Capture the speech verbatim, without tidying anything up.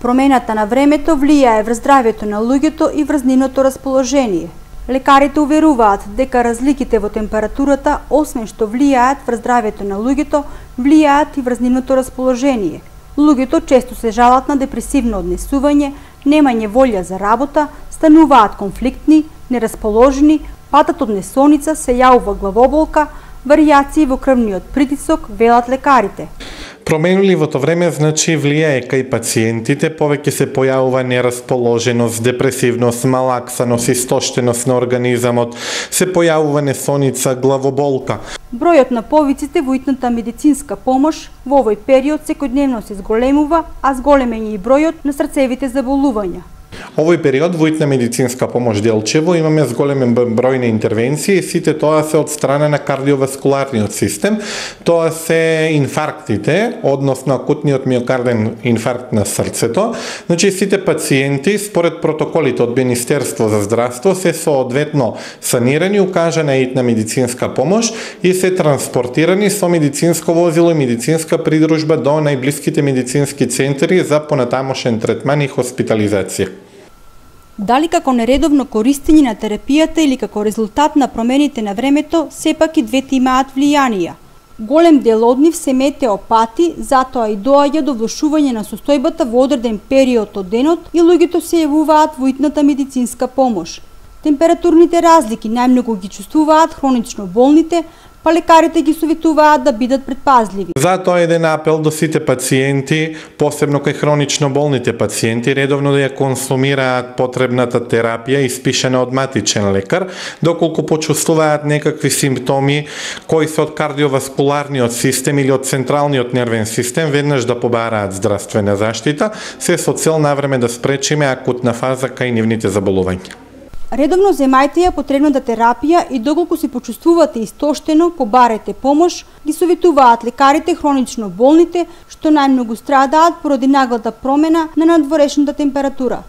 Промената на времето влијае врз здравјето на луѓето и врз нивното расположение. Лекарите уверуваат дека разликите во температурата, освен што влијаат врз здравјето на луѓето, влијаат и врз нивното расположение. Луѓето често се жалат на депресивно однесување, немање волја за работа, стануваат конфликтни, нерасположени, патат од несоница, се јавува главоболка, варијации во крвниот притисок, велат лекарите. Променливото време значи влијае кај пациентите, повеќе се појавува нерасположеност, депресивност, малаксаност, истоштеност на организамот, се појавува несоница, главоболка. Бројот на повиците во итната медицинска помош во овој период секојдневно се зголемува, а зголемен е и бројот на срцевите заболувања. Овој период во итна медицинска помош Делчево имаме зголемен број на интервенции, сите тоа се од страна на кардиоваскуларниот систем. Тоа се инфарктите, односно акутниот миокарден инфаркт на срцето. Значи сите пациенти според протоколите од Министерство за здравство се соодветно санирани, укажана итна медицинска помош и се транспортирани со медицинско возило и медицинска придружба до најблиските медицински центри за понатамошен третман и хоспитализација. Дали како нередовно користење на терапијата или како резултат на промените на времето, сепак и двете имаат влијанија. Голем дел од нив се метеопати, затоа и доаѓа до влошување на состојбата во одреден период од денот и луѓето се јавуваат во итната медицинска помош. Температурните разлики најмногу ги чувствуваат хронично болните, па лекарите ги советуваат да бидат предпазливи. Затоа еден апел до сите пациенти, посебно кај хронично болните пациенти, редовно да ја консумираат потребната терапија испишана од матичен лекар, доколку почувствуваат некакви симптоми кои се од кардиоваскуларниот систем или од централниот нервен систем, веднаш да побараат здравствена заштита, се со цел навреме да спречиме акутна фаза кај нивните заболувања. Редовно земајте ја потребната терапија и доколку се почувствувате истоштено, побарете помош, ги советуваат лекарите хронично болните, што најмногу страдаат поради наглата промена на надворешната температура.